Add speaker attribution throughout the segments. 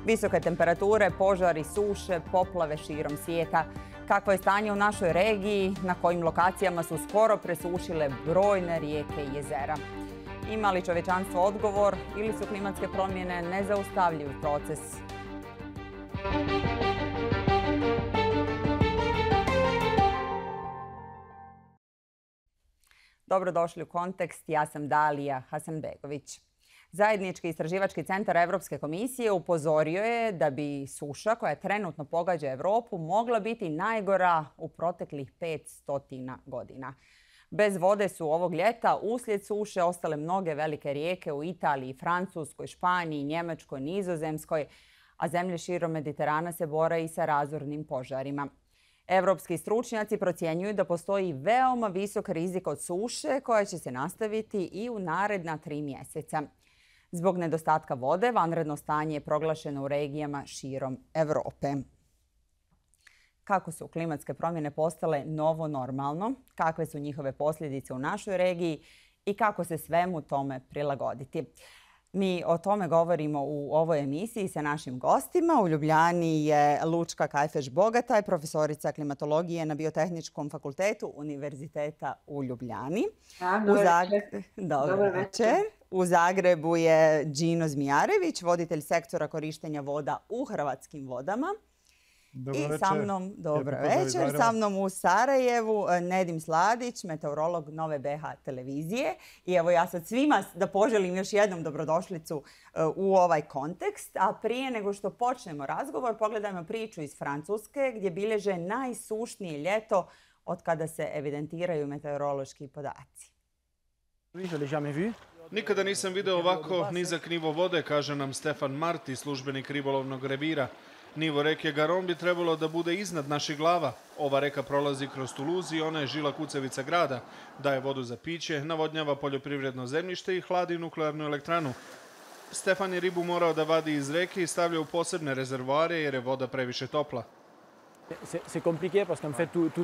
Speaker 1: Visoke temperature, požari, suše, poplave širom svijeta. Kakvo je stanje u našoj regiji, na kojim lokacijama su skoro presušile brojne rijeke i jezera. Ima li čovječanstvo odgovor ili su klimatske promjene nezaustavljiv proces? Dobrodošli u Kontekst, ja sam Dalija Hasanbegović. Zajednički istraživački centar Europske komisije upozorio je da bi suša koja trenutno pogađa Europu mogla biti najgora u proteklih 500 godina. Bez vode su ovog ljeta uslijed suše ostale mnoge velike rijeke u Italiji, Francuskoj, Španiji, Njemačkoj, Nizozemskoj, a zemlje širom Mediterana se bore i sa razornim požarima. Evropski stručnjaci procjenjuju da postoji veoma visok rizik od suše koja će se nastaviti i u naredna 3 mjeseca. Zbog nedostatka vode, vanredno stanje je proglašeno u regijama širom Europe. Kako su klimatske promjene postale novo normalno, kakve su njihove posljedice u našoj regiji i kako se svemu tome prilagoditi? Mi o tome govorimo u ovoj emisiji sa našim gostima. U Ljubljani je Lučka Kajfeš-Bogataj, profesorica klimatologije na Biotehničkom fakultetu Univerziteta u Ljubljani. Dobar večer. U Zagrebu je Đino Zmijarević, voditelj sektora korištenja voda u Hrvatskim vodama. Dobro večer. Sa mnom u Sarajevu Nedim Sladić, meteorolog Nove BH televizije. I evo ja sad svima da poželim još jednom dobrodošlicu u ovaj kontekst. A prije nego što počnemo razgovor, pogledajmo priču iz Francuske gdje bilježe najsušnije ljeto od kada se evidentiraju meteorološki podaci.
Speaker 2: Nikada nisam video ovako nizak nivo vode, kaže nam Stefan Marti, službenik ribolovnog revira. Nivo reke Garon bi trebalo da bude iznad naših glava. Ova reka prolazi kroz Toulouse i ona je žila kucavica grada. Daje vodu za piće, navodnjava poljoprivredno zemljište i hladi nuklearnu elektranu. Stefan je ribu morao da vadi iz reke i stavlja u posebne rezervoare jer je voda previše topla.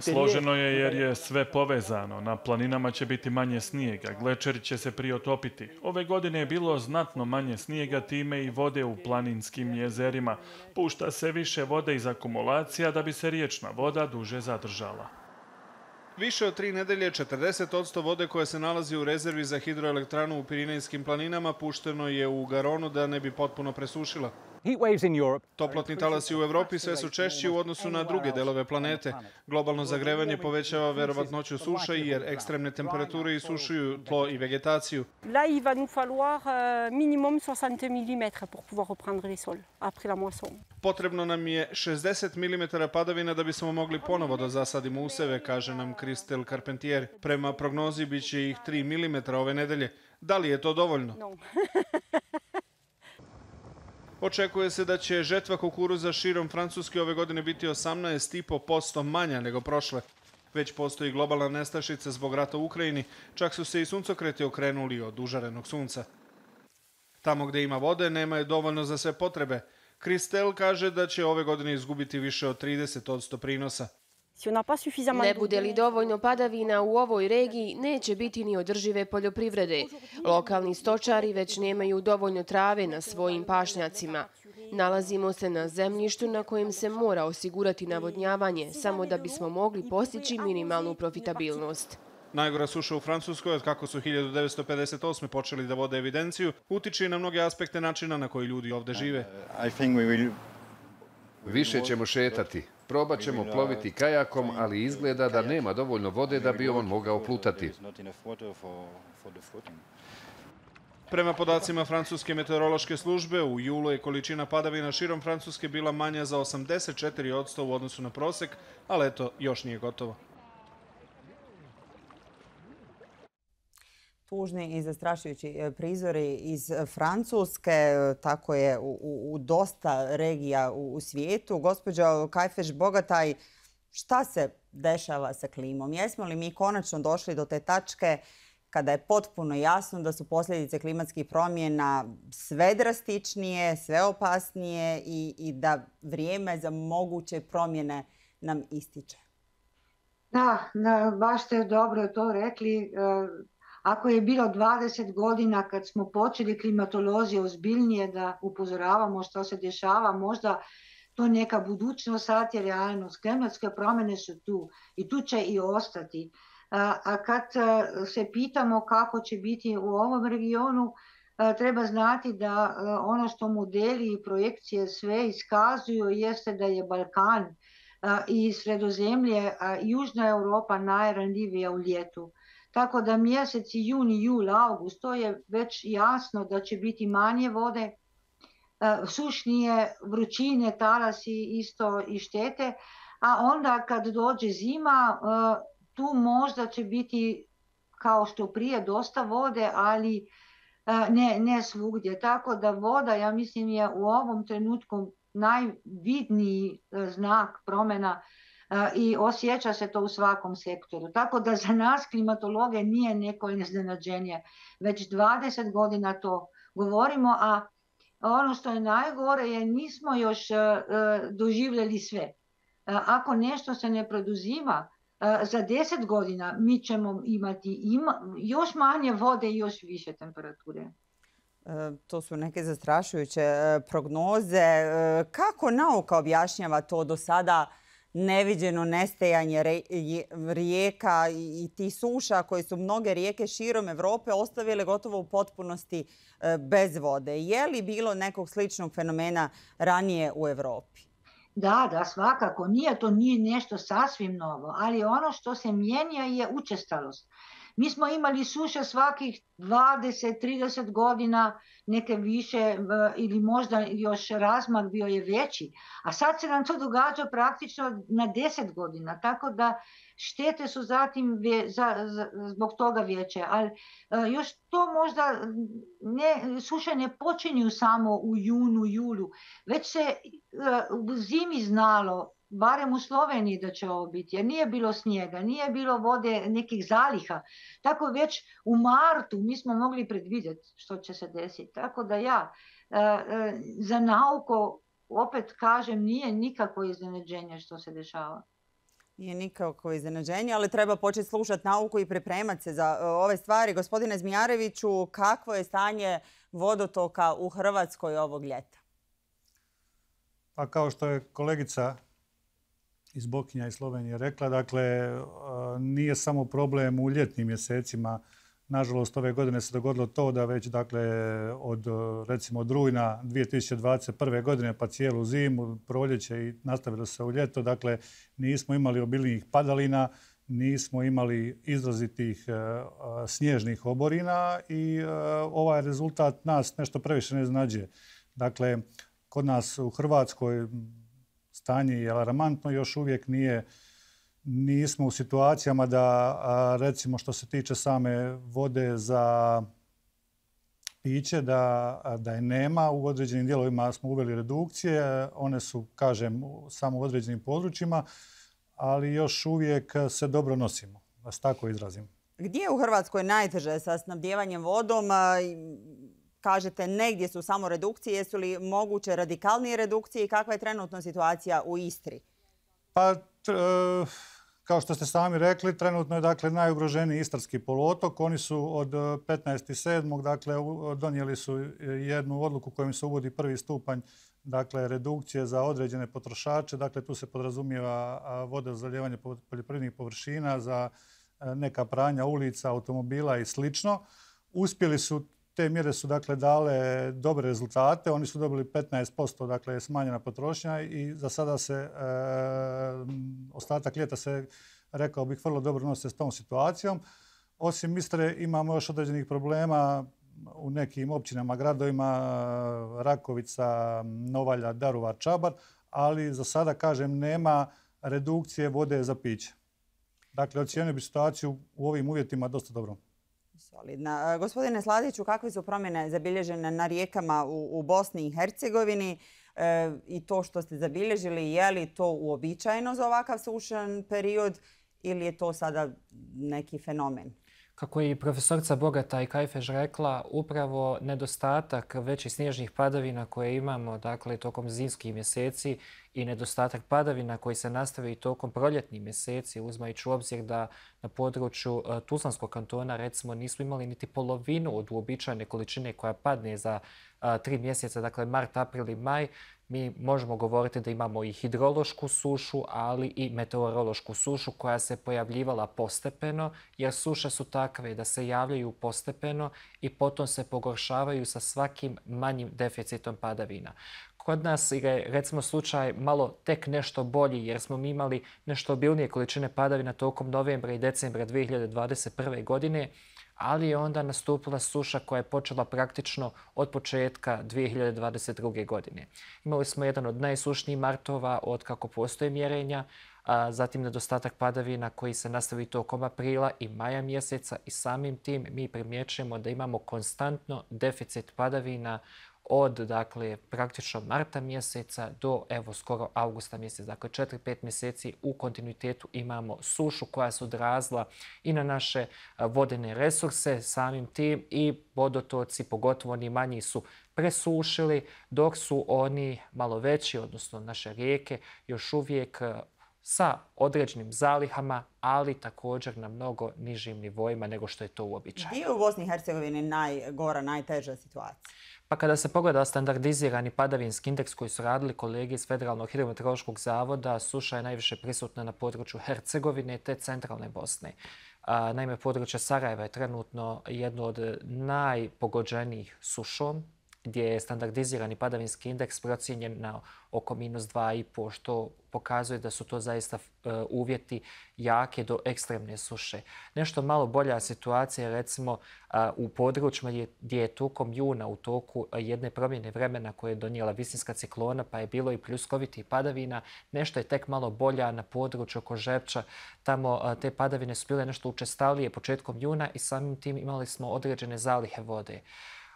Speaker 3: Složeno je jer je sve povezano. Na planinama će biti manje snijega, glečeri će se priotopiti. Ove godine je bilo znatno manje snijega, time i vode u planinskim jezerima. Pušta se više vode iz akumulacija da bi se riječna voda duže zadržala.
Speaker 2: Više od 3 nedelje 40% vode koja se nalazi u rezervi za hidroelektranu u Pirinejskim planinama pušteno je u Garonu da ne bi potpuno presušila. Toplotni talasi u Evropi sve su češći u odnosu na druge delove planete. Globalno zagrevanje povećava verovatnoću suša jer ekstremne temperature isušuju tlo i vegetaciju.
Speaker 4: Là, il va nous falloir minimum 60 mm pour pouvoir reprendre les sols après la moisson.
Speaker 2: Potrebno nam je 60 mm padavina da bismo mogli ponovo da zasadimo useve, kaže nam Kristel Carpentier. Prema prognozi biće ih 3 mm ove nedelje. Da li je to dovoljno?
Speaker 4: No.
Speaker 2: Očekuje se da će žetva kukuruza širom Francuske ove godine biti 18,5% manja nego prošle. Već postoji globalna nestašica zbog rata u Ukrajini, čak su se i suncokreti okrenuli od užarenog sunca. Tamo gdje ima vode nema je dovoljno za sve potrebe. Kristel kaže da će ove godine izgubiti više od 30% prinosa.
Speaker 5: Ne bude li dovoljno padavina u ovoj regiji, neće biti ni održive poljoprivrede. Lokalni stočari već nemaju dovoljno trave na svojim pašnjacima. Nalazimo se na zemljištu na kojem se mora osigurati navodnjavanje, samo da bismo mogli postići minimalnu profitabilnost.
Speaker 2: Najgora suša u Francuskoj, od kako su 1958. počeli da vode evidenciju, utiče i na mnoge aspekte načina na koji ljudi ovdje žive.
Speaker 6: Više ćemo šetati. Probat ćemo ploviti kajakom, ali izgleda da nema dovoljno vode da bi on mogao plutati.
Speaker 2: Prema podacima Francuske meteorološke službe, u julu je količina padavina širom Francuske bila manja za 84% u odnosu na prosek, ali eto, još nije gotovo.
Speaker 1: Tužni i zastrašujući prizori iz Francuske, tako je u dosta regija u svijetu. Gospođo Kajfeš-Bogataj, šta se dešava sa klimom? Jesmo li mi konačno došli do te tačke kada je potpuno jasno da su posljedice klimatskih promjena sve drastičnije, sve opasnije i da vrijeme za moguće promjene nam ističe?
Speaker 7: Da, baš ste dobro to rekli. ako je bilo 20 godina kad smo počeli klimatolozi ozbiljnije da upozoravamo što se dešava, možda to neka budućnost, sad je realnost. Klimatske promjene su tu i tu će i ostati. A kad se pitamo kako će biti u ovom regionu, treba znati da ono što modeli i projekcije sve iskazuju jeste da je Balkan i Sredozemlje, Južna Europa najranjivija u ljetu. Tako da mjeseci juni, jul, august, to je već jasno da će biti manje vode, sušnije, vrućine, talasi isto i štete, a onda kad dođe zima, tu možda će biti kao što prije dosta vode, ali ne svugdje. Tako da voda, ja mislim, je u ovom trenutku najvidniji znak promjena i osjeća se to u svakom sektoru. Tako da za nas klimatologe nije neko iznenađenje. Već 20 godina to govorimo, a ono što je najgore je nismo još doživjeli sve. Ako nešto se ne produzima, za 10 godina mi ćemo imati još manje vode i još više temperature.
Speaker 1: To su neke zastrašujuće prognoze. Kako nauka objašnjava to do sada neviđeno nestajanje rijeka i ti suša koje su mnoge rijeke širom Evrope ostavile gotovo u potpunosti bez vode? Je li bilo nekog sličnog fenomena ranije u Evropi?
Speaker 7: Da, svakako. To nije nešto sasvim novo, ali ono što se mijenja je učestalost. Mi smo imali suše svakih 20-30 godina, neke više ili možda još razmak bio je veći, a sad se nam to događa praktično na 10 godina, tako da štete su zatim zbog toga veće. Ali još to možda suše ne počinju samo u junu, julu, već se u zimi znalo, barem u Sloveniji da će ovo biti, jer nije bilo snijega, nije bilo vode nekih zaliha. Tako već u martu mi smo mogli predvidjeti što će se desiti. Tako da za nauku, opet kažem, nije nikakvo iznenađenje što se dešava.
Speaker 1: Nije nikakvo iznenađenje, ali treba početi slušati nauku i pripremati se za ove stvari. Gospodine Zmijareviću, kakvo je stanje vodotoka u Hrvatskoj ovog ljeta?
Speaker 8: Pa kao što je kolegica iz Bokinja i Slovenije rekla, dakle, nije samo problem u ljetnim mjesecima. Nažalost, ove godine se dogodilo to da već, dakle, od rujna 2021. godine pa cijelu zimu, proljeće i nastavilo se u ljeto, dakle, nismo imali obilnijih padalina, nismo imali izrazitih snježnih oborina i ovaj rezultat nas nešto previše ne iznenađuje. Dakle, kod nas u Hrvatskoj stanje je alarmantno, još uvijek nismo u situacijama da, recimo što se tiče same vode za piće, da je nema. U određenim dijelovima smo uveli redukcije, one su, kažem, samo u određenim područjima, ali još uvijek se dobro nosimo, da se tako izrazim.
Speaker 1: Gdje je u Hrvatskoj najteže sa snabdijevanjem vodom? Kažete, negdje su samo redukcije. Jesu li moguće radikalnije redukcije i kakva je trenutna situacija u Istri?
Speaker 8: Pa, kao što ste sami rekli, trenutno je, dakle, najugroženiji Istarski poluotok. Oni su od 15.7. dakle, donijeli su jednu odluku kojom se uvodi prvi stupanj, dakle, redukcije za određene potrošače. Dakle, tu se podrazumijeva voda za zalijevanje poljoprivrednih površina, za neka pranja ulica, automobila i slično. Uspjeli su, te mjere su, dakle, dale dobre rezultate. Oni su dobili 15%, dakle, smanjena potrošnja i za sada se ostatak ljeta se, rekao bih, vrlo dobro nose s tom situacijom. Osim Istre imamo još određenih problema u nekim općinama, gradovima, Rakovica, Novalja, Daruvar, Čabar, ali za sada, kažem, nema redukcije vode za piće. Dakle, ocijenio bi situaciju u ovim uvjetima dosta dobro.
Speaker 1: Solidna. Gospodine Sladiću, kakve su promjene zabilježene na rijekama u Bosni i Hercegovini i to što ste zabilježili, je li to uobičajeno za ovakav sušan period ili je to sada neki fenomen?
Speaker 9: Kako je i profesorica Bogataj Kajfež rekla, upravo nedostatak većih snježnih padavina koje imamo tokom zimskih mjeseci i nedostatak padavina koji se nastavi tokom proljetnih mjeseci, uzimajući u obzir da na području Tuzlanskog kantona recimo nismo imali niti polovinu od uobičajene količine koja padne za 3 mjeseca, dakle mart, april i maj, mi možemo govoriti da imamo i hidrološku sušu, ali i meteorološku sušu koja se pojavljivala postepeno, jer suše su takve da se javljaju postepeno i potom se pogoršavaju sa svakim manjim deficitom padavina. Kod nas je recimo slučaj malo tek nešto bolji jer smo mi imali nešto obilnije količine padavina tokom novembra i decembra 2021. godine, ali je onda nastupila suša koja je počela praktično od početka 2022. godine. Imali smo jedan od najsušnijih martova od kako postoje mjerenja, zatim nedostatak padavina koji se nastavi tokom aprila i maja mjeseca i samim tim mi primjećujemo da imamo konstantno deficit padavina od praktično marta mjeseca do skoro augusta mjeseca. Dakle, 4-5 mjeseci u kontinuitetu imamo sušu koja se odrazila i na naše vodene resurse. Samim tim i vodotoci, pogotovo oni manji, su presušili, dok su oni malo veći, odnosno naše rijeke, još uvijek sa određenim zalihama, ali također na mnogo nižim nivoima nego što je to uobičajeno.
Speaker 1: Gdje je u Bosni i Hercegovini najgora, najteža situacija?
Speaker 9: Pa kada se pogleda standardizirani padavinski indeks koji su radili kolege iz Federalnog hidrometeorološkog zavoda, suša je najviše prisutna na području Hercegovine te centralne Bosne. Naime, područje Sarajeva je trenutno jedno od najpogođenijih sušom, gdje je standardizirani padavinski indeks procijenjen na oko -2,5, što pokazuje da su to zaista uvjeti jake do ekstremne suše. Nešto malo bolja situacija je recimo u područjima gdje je tokom juna u toku jedne promjene vremena koje je donijela visinska ciklona, pa je bilo i pljuskovitih padavina. Nešto je tek malo bolja na području oko Žepča. Tamo te padavine su bile nešto učestalije početkom juna i samim tim imali smo određene zalihe vode.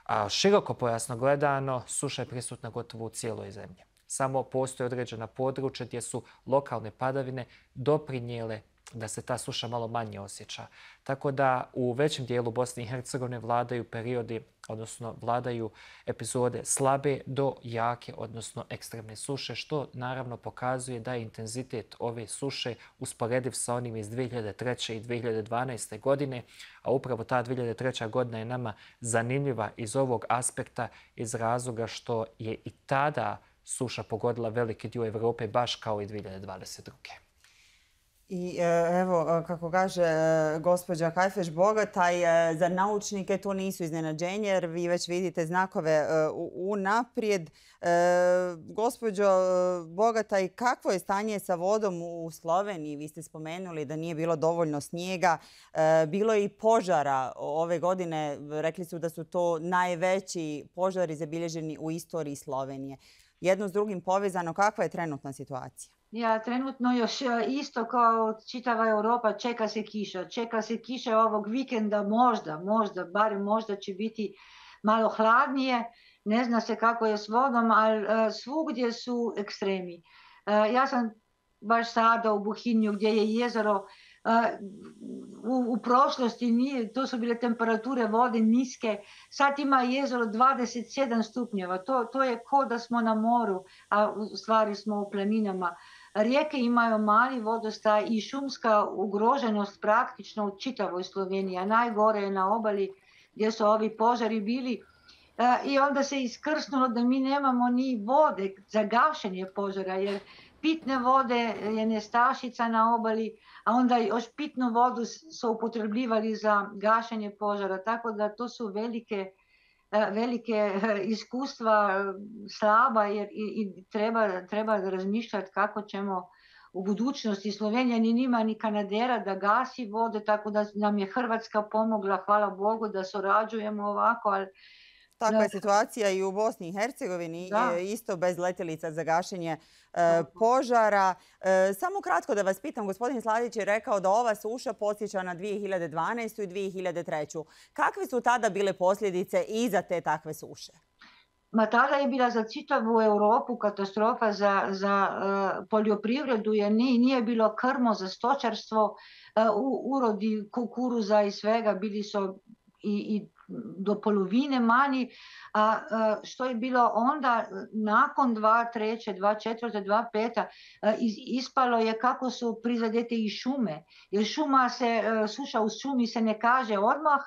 Speaker 9: A široko pojasno gledano, suša je prisutna gotovo u cijeloj zemlji. Samo postoje određena područja gdje su lokalne padavine doprinijele da se ta suša malo manje osjeća. Tako da u većem dijelu Bosne i Hercegovine vladaju periodi, odnosno vladaju epizode slabe do jake, odnosno ekstremne suše, što naravno pokazuje da je intenzitet ove suše usporediv sa onim iz 2003. i 2012. godine, a upravo ta 2003. godina je nama zanimljiva iz ovog aspekta, iz razloga što je i tada suša pogodila veliki dio Evrope, baš kao i 2022.
Speaker 1: I evo, kako kaže gospođa Kajfež Bogataj, za naučnike to nisu iznenađenje jer vi već vidite znakove unaprijed. Gospođo Bogataj, kakvo je stanje sa vodom u Sloveniji? Vi ste spomenuli da nije bilo dovoljno snijega. Bilo je i požara ove godine. Rekli su da su to najveći požari zabilježeni u istoriji Slovenije. Jedno s drugim povezano, kakva je trenutna situacija?
Speaker 7: Trenutno još isto kao čitava Europa, čeka se kiša. Čeka se kiša ovog vikenda, barem možda će biti malo hladnije. Ne zna se kako je s vodom, ali svugdje su ekstremi. Ja sam baš sada u Buhinju gdje je jezero. U prošlosti to su bile temperature vode niske, sad ima jezero 27 stupnjeva, to je ko da smo na moru, a u stvari smo u planinama. Rijeke imaju mali vodostaj i šumska ugroženost praktično u čitavoj Sloveniji, a najgore je na obali gdje su ovi požari bili. I onda se iskrsnulo da mi nemamo ni vode za gašenje požara, jer pitne vode je nestašica na obali, a onda još pitnu vodu su upotrebljivali za gašenje požara. Tako da to su velike iskustva slaba i treba razmišljati kako ćemo u budućnosti. Slovenija ni nima ni kanadera da gasi vode, tako da nam je Hrvatska pomogla, hvala Bogu da surađujemo ovako, ali
Speaker 1: takva je situacija i u Bosni i Hercegovini, isto bez letjelica za gašenje požara. Samo kratko da vas pitam, gospodin Sladić je rekao da ova suša podsjeća na 2012. i 2003. Kakve su tada bile posljedice iza te takve suše?
Speaker 7: tada je bila za čitavu Europu katastrofa za poljoprivredu, jer nije bilo krmo za stočarstvo, urodi kukuruza i svega bili su i do polovine manji, a što je bilo onda nakon 2003, 2004, 2005 ispalo je kako su prizadete i šume, jer suša u šumi se ne kaže odmah,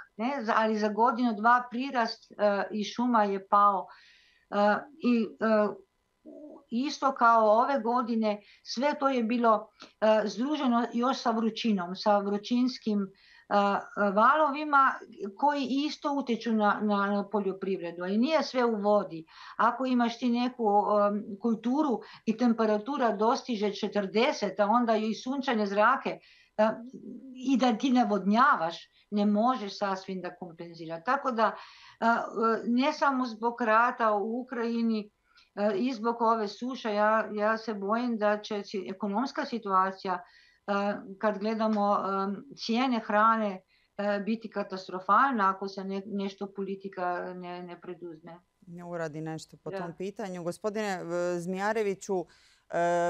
Speaker 7: ali za godinu, dva prirast i šuma je pao. I isto kao ove godine, sve to je bilo združeno još sa vrućinom, sa vrućinskim valovima koji isto utječu na poljoprivredu. I nije sve u vodi. Ako imaš ti neku kulturu i temperatura dostiže 40, a onda i sunčane zrake i da ti navodnjavaš, ne možeš sasvim da kompenzira. Tako da ne samo zbog rata u Ukrajini i zbog ove suše, ja se bojim da će ekonomska situacija, kad gledamo cijene hrane, biti katastrofalna ako se nešto politika ne preduzme.
Speaker 1: Ne uradi nešto po tom pitanju. Gospodine Zmijareviću,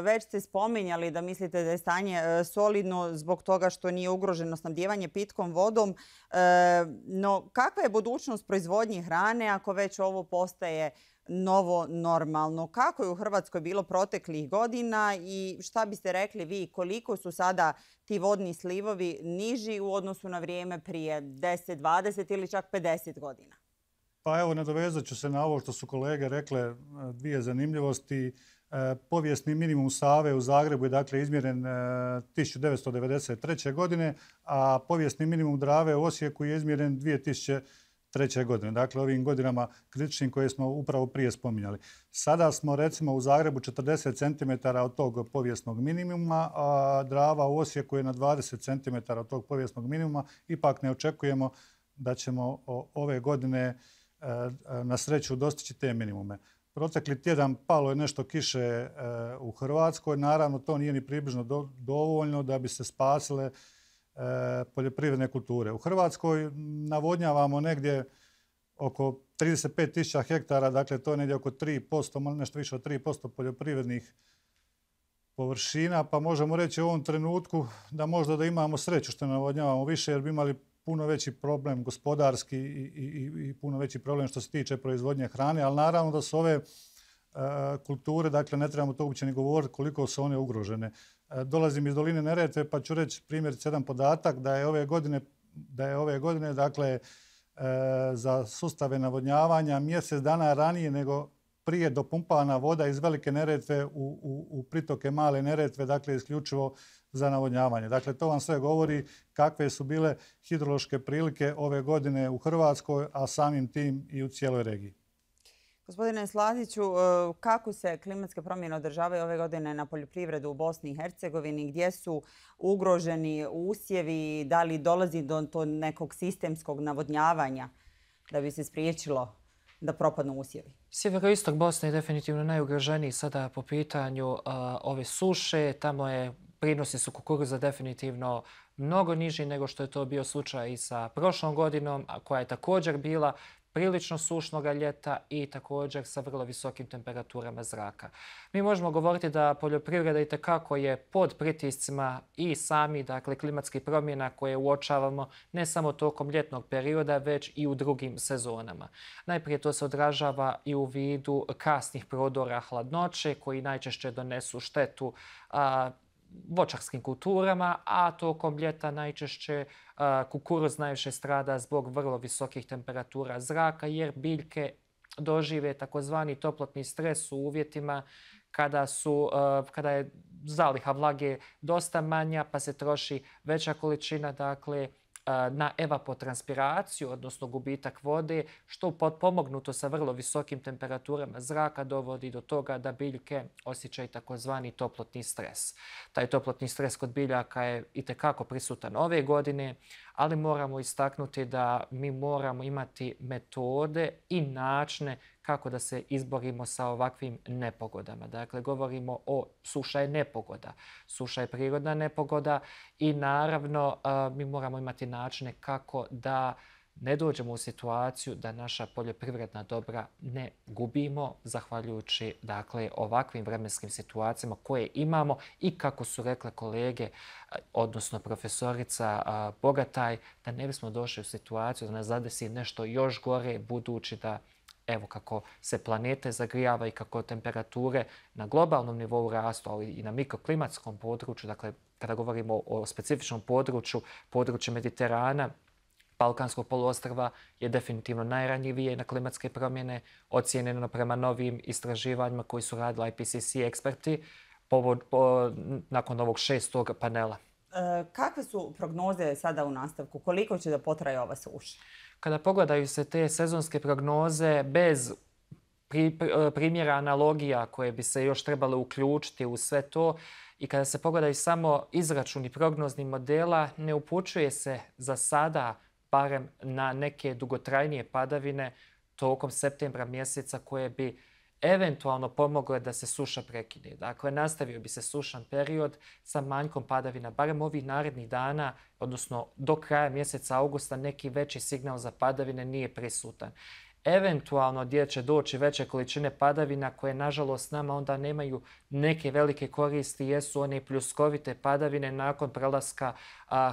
Speaker 1: već ste spominjali da mislite da je stanje solidno zbog toga što nije ugroženo snabdijevanje pitkom vodom. No, kakva je budućnost proizvodnje hrane ako već ovo postaje novo normalno? Kako je u Hrvatskoj bilo proteklih godina i šta biste rekli vi, koliko su sada ti vodni slivovi niži u odnosu na vrijeme prije 10, 20 ili čak 50 godina?
Speaker 8: Pa evo, nadovezat ću se na ovo što su kolege rekle, dvije zanimljivosti. Povijesni minimum Save u Zagrebu je dakle izmjeren 1993. godine, a povijesni minimum Drave u Osijeku je izmjeren 2003. godine. Dakle, ovim godinama kritičnim koje smo upravo prije spominjali. Sada smo recimo u Zagrebu 40 cm od tog povijesnog minimuma, a Drava u Osijeku je na 20 cm od tog povijesnog minimuma. Ipak ne očekujemo da ćemo ove godine na sreću dostići te minimume. Protekli tjedan palo je nešto kiše u Hrvatskoj. Naravno, to nije ni približno dovoljno da bi se spasile poljoprivredne kulture. U Hrvatskoj navodnjavamo negdje oko 35.000 hektara, dakle to je negdje oko 3%, nešto više od 3% poljoprivrednih površina, pa možemo reći u ovom trenutku da možda da imamo sreću što navodnjavamo više, jer bi imali puno veći problem gospodarski i puno veći problem što se tiče proizvodnje hrane, ali naravno da su ove kulture, dakle ne trebamo to uopće ni govoriti koliko su one ugrožene. Dolazim iz doline Neretve pa ću reći primjerice jedan podatak da je ove godine dakle za sustave navodnjavanja mjesec dana ranije nego prije dopumpana voda iz Velike Neretve u pritoke Male Neretve, dakle isključivo za navodnjavanje. Dakle, to vam sve govori kakve su bile hidrološke prilike ove godine u Hrvatskoj, a samim tim i u cijeloj regiji.
Speaker 1: Gospodine Sladiću, kako se klimatske promjene održavaju ove godine na poljoprivredu u Bosni i Hercegovini? Gdje su ugroženi usjevi? Da li dolazi do nekog sistemskog navodnjavanja da bi se spriječilo da propadnu usjevi?
Speaker 9: Sjeveroistok Bosne je definitivno najugroženiji sada po pitanju ove suše. Tamo prinosi su kukuruza definitivno mnogo niži nego što je to bio slučaj i sa prošlom godinom, koja je također bila prilično sušnog ljeta i također sa vrlo visokim temperaturama zraka. Mi možemo govoriti da poljoprivreda itekako je pod pritiscima i sami, dakle, klimatskih promjena koje uočavamo ne samo tokom ljetnog perioda, već i u drugim sezonama. Najprije to se odražava i u vidu kasnih prodora hladnoće koji najčešće donesu štetu voćarskim kulturama, a tokom ljeta najčešće kukuruz najviše strada zbog vrlo visokih temperatura zraka, jer biljke dožive takozvani toplotni stres u uvjetima kada je zaliha vlage dosta manja, pa se troši veća količina, dakle, na evapotranspiraciju, odnosno gubitak vode, što potpomognuto sa vrlo visokim temperaturama zraka dovodi do toga da biljke osjećaju takozvani toplotni stres. Taj toplotni stres kod biljaka je itekako prisutan ove godine, ali moramo istaknuti da mi moramo imati metode i načine kako da se izborimo sa ovakvim nepogodama. Dakle, govorimo o suša je nepogoda. Suša je prirodna nepogoda i naravno mi moramo imati načine kako da ne dođemo u situaciju da naša poljoprivredna dobra ne gubimo zahvaljujući dakle, ovakvim vremenskim situacijama koje imamo i kako su rekle kolege, odnosno profesorica Bogataj, da ne bismo došli u situaciju da nas zadesi nešto još gore, budući da evo kako se planete zagrijava i kako temperature na globalnom nivou rastu, ali i na mikroklimatskom području, dakle kada govorimo o specifičnom području Mediterana, Balkanskog poluostrva je definitivno najranjivije na klimatske promjene, ocijenjeno prema novim istraživanjima koji su radili IPCC eksperti nakon ovog 6. panela.
Speaker 1: Kakve su prognoze sada u nastavku? Koliko će da potraje ova suša?
Speaker 9: Kada pogledaju se te sezonske prognoze bez primjera analogija koje bi se još trebale uključiti u sve to i kada se pogledaju samo izračuni prognoznih modela, ne upućuje se za sada barem na neke dugotrajnije padavine tokom septembra mjeseca koje bi eventualno pomogle da se suša prekine. Dakle, nastavio bi se sušan period sa manjkom padavina, barem ovih narednih dana, odnosno do kraja mjeseca augusta neki veći signal za padavine nije prisutan. Eventualno gdje će doći veće količine padavina koje nažalost nama onda nemaju neke velike koristi jesu one pljuskovite padavine nakon prelaska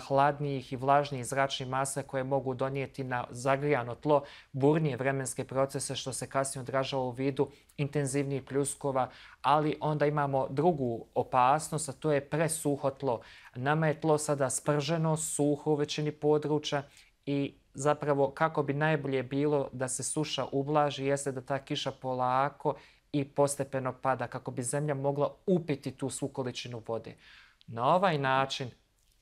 Speaker 9: hladnijih i vlažnijih zračnih masa koje mogu donijeti na zagrijano tlo burnije vremenske procese što se kasnije odražava u vidu intenzivnijih pljuskova, ali onda imamo drugu opasnost, a to je presuho tlo. Nama je tlo sada sprženo, suho u većini područja i zapravo kako bi najbolje bilo da se suša ublaži jeste da ta kiša polako i postepeno pada kako bi zemlja mogla upiti tu svu količinu vode. Na ovaj način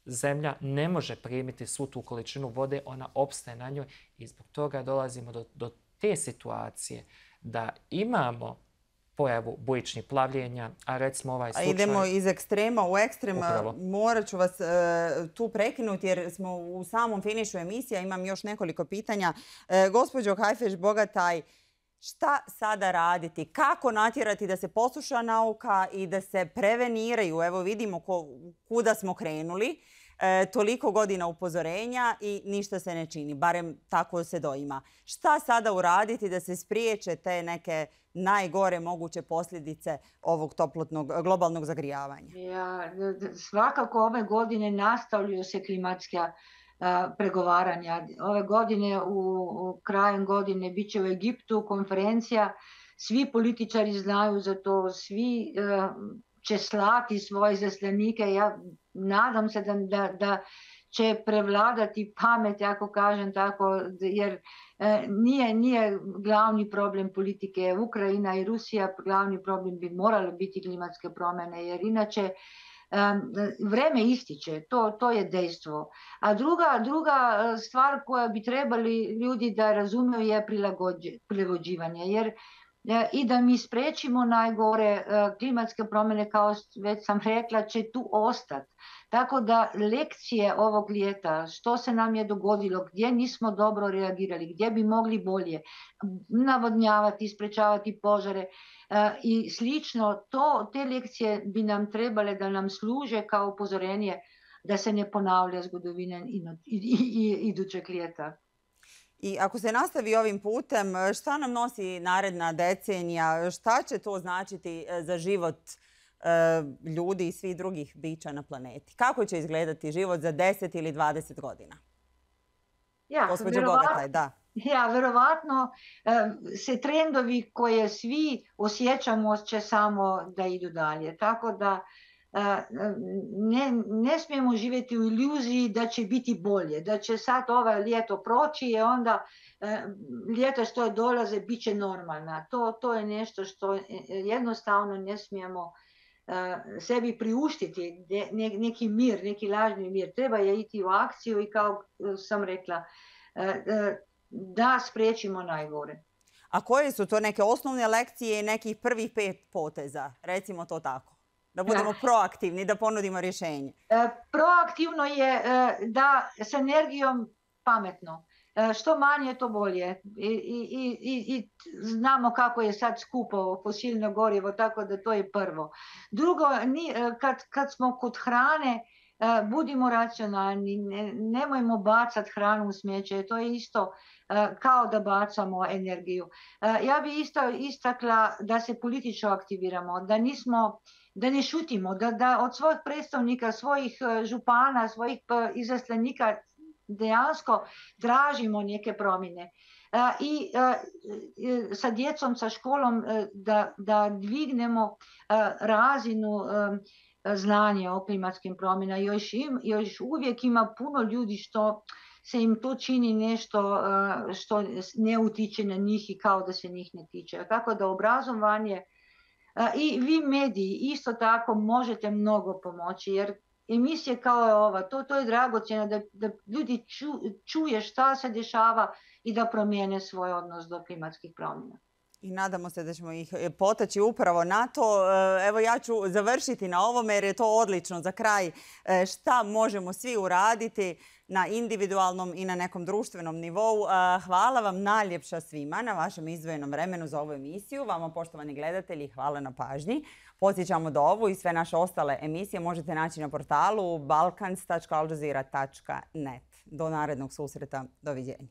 Speaker 9: zemlja ne može primiti svu tu količinu vode, ona opstaje na njoj i zbog toga dolazimo do te situacije da imamo pojavu bujičnih plavljenja, a recimo ovaj slučaj...
Speaker 1: Idemo iz ekstrema u ekstrem. Morat ću vas tu prekinuti jer smo u samom finišu emisija. Imam još nekoliko pitanja. Gospođo Hajfeš-Bogataj, šta sada raditi? Kako natjerati da se posluša nauka i da se preveniraju? Evo vidimo kuda smo krenuli. Toliko godina upozorenja i ništa se ne čini. Barem tako se doima. Šta sada uraditi da se spriječe te neke najgore moguće posljedice ovog globalnog zagrijavanja?
Speaker 7: Svakako ove godine nastavljaju se klimatska pregovaranja. Ove godine, krajem godine, bit će u Egiptu konferencija. Svi političari znaju za to, svi će slati svoje izaslanike. Ja nadam se da će prevladati pamet, ako kažem tako, jer nije glavni problem politike Ukrajina i Rusija, glavni problem bi moralo biti klimatske promjene, jer inače vreme ističe, to je dejstvo. A druga stvar koja bi trebali ljudi da razumiju je prilagođivanje, jer i da mi spriječimo najgore klimatske promjene, kao već sam rekla, će tu ostati. Tako da lekcije ovog ljeta, što se nam je dogodilo, gdje nismo dobro reagirali, gdje bi mogli bolje navodnjavati, sprečavati požare i slično, te lekcije bi nam trebale da nam služe kao upozorenje da se ne ponavlja zgodovina idućeg ljeta.
Speaker 1: I ako se nastavi ovim putem, šta nam nosi naredna decenija? Šta će to značiti za život ljudi i svih drugih bića na planeti? Kako će izgledati život za 10 ili 20 godina? Gospođo Bogataj, da.
Speaker 7: Verovatno se trendovi koje svi osjećamo će samo da idu dalje. Tako da ne smijemo živjeti u iluziji da će biti bolje, da će sad ovaj ljeto proći i onda ljeta što dolaze bit će normalna. To je nešto što jednostavno ne smijemo sebi priuštiti, neki mir, neki lažni mir. Treba je iti u akciju i kao sam rekla, da spriječimo najgore.
Speaker 1: A koje su to neke osnovne lekcije i nekih prvih 5 poteza? Recimo to tako. Da budemo proaktivni, da ponudimo rješenje.
Speaker 7: Proaktivno je da s energijom pametno. Što manje, to bolje. I znamo kako je sad skupo fosilno gorivo, tako da to je prvo. Drugo, kad smo kod hrane, budimo racionalni, nemojmo bacati hranu u smeće, to je isto kao da bacamo energiju. Ja bih isto istakla da se politično aktiviramo, da ne šutimo, da od svojih predstavnika, svojih župana, svojih izaslanika dejansko tražimo neke promjene. I sa djecom, sa školom da dvignemo razinu znanja o klimatskim promjenama. Još uvijek ima puno ljudi što se im to čini nešto što ne utiče na njih i kao da se njih ne tiče. Tako da obrazovanje i vi mediji isto tako možete mnogo pomoći, jer emisije kao je ova, to je dragocjeno da ljudi čuje šta se dešava i da promijene svoj odnos do klimatskih promjena.
Speaker 1: I nadamo se da ćemo ih potaći upravo na to. Evo ja ću završiti na ovome jer je to odlično za kraj. Šta možemo svi uraditi na individualnom i na nekom društvenom nivou. Hvala vam najljepša svima na vašem izdvojenom vremenu za ovu emisiju. Vama, poštovani gledatelji, hvala na pažnji. Podsjećamo da ovu i sve naše ostale emisije možete naći na portalu balkans.aljazeera.net. Do narednog susreta. Doviđenja.